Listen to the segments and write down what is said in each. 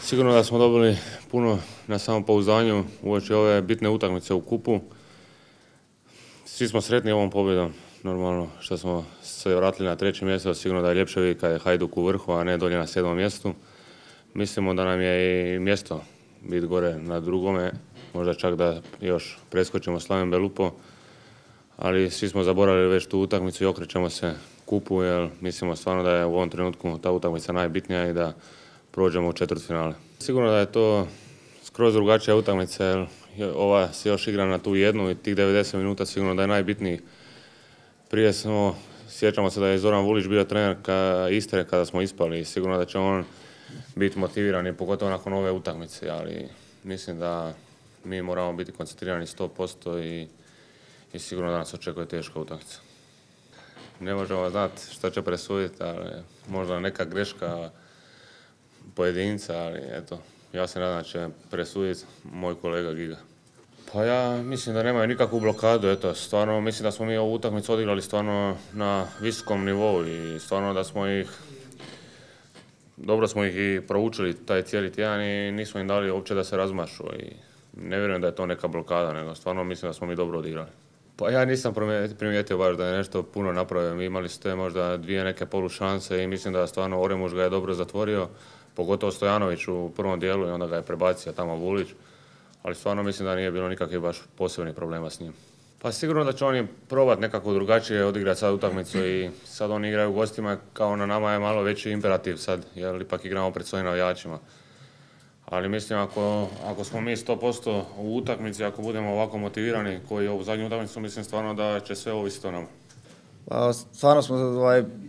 Sigurno da smo dobili puno na samopouzdanju uoči ove bitne utakmice u kupu. Svi smo sretni ovom pobjedom, normalno što smo se vratili na 3. mjesto, sigurno da je ljepše vidjeti kad je Hajduk u vrhu, a ne dolje na 7. mjestu. Mislimo da nam je i mjesto biti gore na 2. možda čak da još preskočimo Slaven Belupo, ali svi smo zaboravili već tu utakmicu i okrećemo se kupu, jer mislimo stvarno da je u ovom trenutku ta utakmica najbitnija i da prođemo u četvrtfinale. Sigurno da je to skroz drugačija utakmica, jer ova se još igra na tu jednu i tih 90 minuta sigurno da je najbitniji. Prije sjećamo se da je Zoran Vulić bio trener Istre kada smo ispali i sigurno da će on biti motiviran i pogotovo nakon ove utakmice, ali mislim da mi moramo biti koncentrirani 100% i sigurno da nas očekuje teška utakmica. Ne možemo znati šta će presuditi, ali možda neka greška pojedinca, ali eto, ja se nadam da će presuditi moj kolega Giga. Pa ja mislim da nemaju nikakvu blokadu, eto, stvarno mislim da smo mi ovu utakmicu odigrali stvarno na visokom nivou i stvarno da smo dobro smo ih i proučili taj cijeli tjedan i nismo im dali uopće da se razmašu i ne vjerujem da je to neka blokada, nego stvarno mislim da smo mi dobro odigrali. Pa ja nisam primijetio baš da je nešto puno napravio, imali ste možda 2 neke polušanse i mislim da stvarno Oremuš ga je dobro zatvorio, pogotovo Stojanović u prvom dijelu i onda ga je prebacio tamo Vulić, ali stvarno mislim da nije bilo nikakvih baš posebnih problema s njim. Pa sigurno da će oni probati nekako drugačije odigrati sad utakmicu i sad oni igraju u gostima, kao na nama je malo veći imperativ sad, jer ipak igramo pred svojim navijačima. Ali mislim ako smo mi 100% u utakmici, ako budemo ovako motivirani koji je ovu zadnju utakmicu, mislim stvarno da će sve ovisiti o nama. Pa, stvarno smo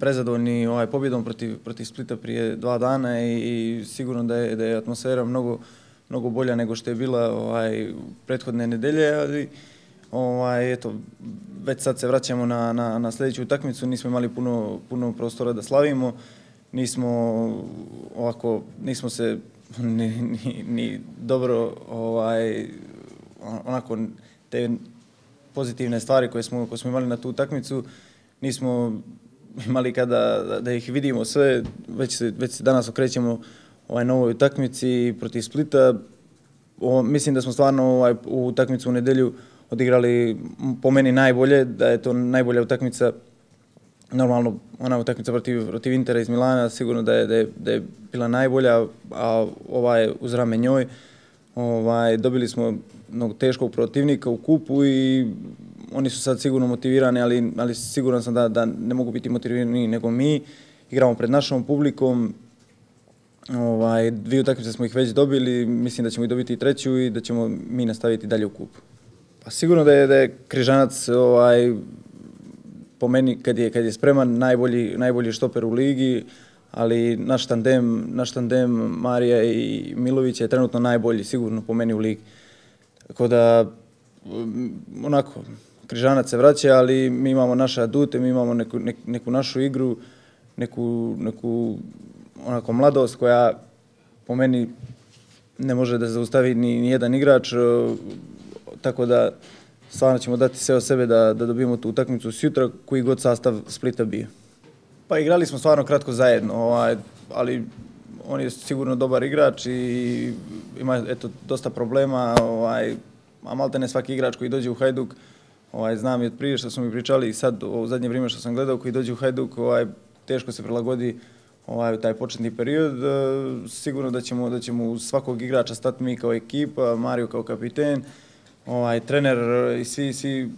prezadovoljni pobjedom protiv Splita prije 2 dana i sigurno da je atmosfera mnogo bolja nego što je bila prethodne nedelje, ali eto, već sad se vraćamo na sljedeću utakmicu, nismo imali puno prostora da slavimo, nismo se ni dobro onako te pozitivne stvari koje smo imali na tu utakmicu nismo imali kada da ih vidimo sve, već se danas okrećemo novoj utakmici protiv Splita. Mislim da smo stvarno u utakmicu u nedjelju odigrali po meni najbolje, da je to najbolja utakmica. Normalno, ona utakmica protiv Intera iz Milana sigurno da je bila najbolja, a ova je uz rame njoj. Dobili smo mnogo teškog protivnika u kupu i oni su sad sigurno motivirani, ali siguran sam da ne mogu biti motivirani nego mi. Igramo pred našom publikom. 2 utakmice smo ih već dobili, mislim da ćemo ih dobiti i 3. i da ćemo mi nastaviti dalje u kupu. Pa sigurno da je Križanac po meni kad je spreman najbolji štoper u ligi, ali naš tandem Marija i Milović je trenutno najbolji sigurno po meni u ligi. Tako da onako Križanac se vraća, ali mi imamo naše adute, mi imamo neku našu igru, neku onako mladost koja po meni ne može da zaustavi ni jedan igrač, tako da stvarno ćemo dati sve od sebe da dobijemo tu utakmicu sutra, koji god sastav Splita bio. Pa igrali smo stvarno kratko zajedno, ali on je sigurno dobar igrač i ima dosta problema, a maltene svaki igrač koji dođe u Hajduk, znam i od prije što smo mi pričali i sad u zadnje vrijeme što sam gledao, koji dođe u Hajduk, teško se prilagodi u taj početni period. Sigurno da ćemo uz svakog igrača stati mi kao ekipa, Mario kao kapiten, trener i svi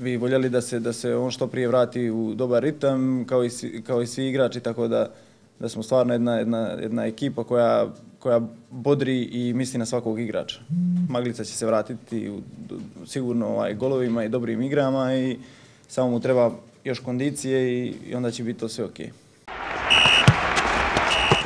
bi voljeli da se on što prije vrati u dobar ritam, kao i svi igrači, tako da smo stvarno jedna ekipa koja bodri i misli na svakog igrača. Maglica će se vratiti sigurno golovima i dobrim igrama i samo mu treba još kondicije i onda će biti to sve ok.